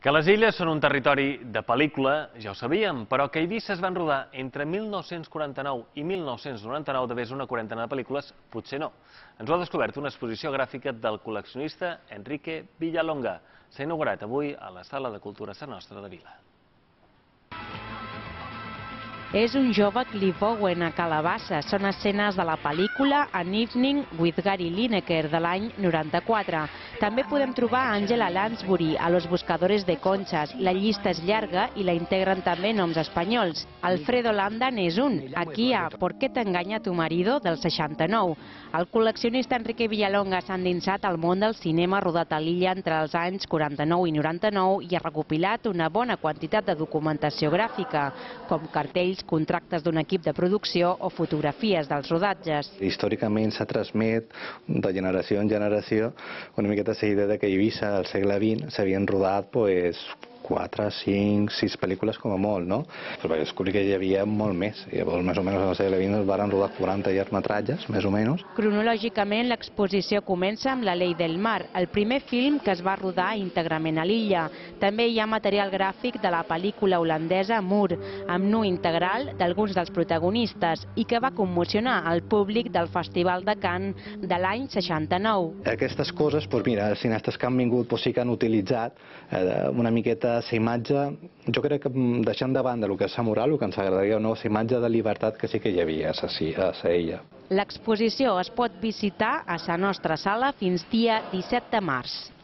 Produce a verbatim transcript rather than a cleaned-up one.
Que les illes són un territori de pel·lícula, ja ho sabíem, però que a Eivissa es van rodar entre mil nou-cents quaranta-nou i mil nou-cents noranta-nou de més una quarantena de pel·lícules, potser no. Ens ho ha descobert una exposició gràfica del col·leccionista Enrique Villalonga. S'ha inaugurat avui a la Sala de Cultura Sa Nostra de Vila. És un jove Cliff Owen a Calabassa. Són escenes de la pel·lícula An Evening with Gary Lineker de l'any noranta-quatre. També podem trobar Angela Lansbury a Los Buscadores de Conchas. La llista és llarga i la integren també noms espanyols. Alfredo Landa n'és un. Aquí a ¿Por qué te engaña tu marido? Del seixanta-nou. El col·leccionista Enrique Villalonga s'ha endinsat al món del cinema rodat a l'illa entre els anys quaranta-nou i noranta-nou i ha recopilat una bona quantitat de documentació gràfica, com cartells, contractes d'un equip de producció o fotografies dels rodatges. Històricament s'ha transmet de generació en generació una miqueta la idea que a Eivissa al segle vint s'havien rodat pues, quatre, cinc, sis pel·lícules com a molt, no? Però vaig descobrir que hi havia molt més. Llavors, més o menys al segle vint es van rodar quaranta llargmetratges, més o menys. Cronològicament, l'exposició comença amb La Ley del Mar, el primer film que es va rodar íntegrament a l'illa. També hi ha material gràfic de la pel·lícula holandesa Moore, amb nu integral d'alguns dels protagonistes i que va commocionar el públic del Festival de Cannes de l'any seixanta-nou. Aquestes coses, doncs mira, els cineastes que han vingut doncs sí que han utilitzat eh, una miqueta la imatge, jo crec que deixant de banda el que és la moral, el que ens agradaria, no, la imatge de llibertat que sí que hi havia a la illa. L'exposició es pot visitar a la nostra sala fins dia disset de març.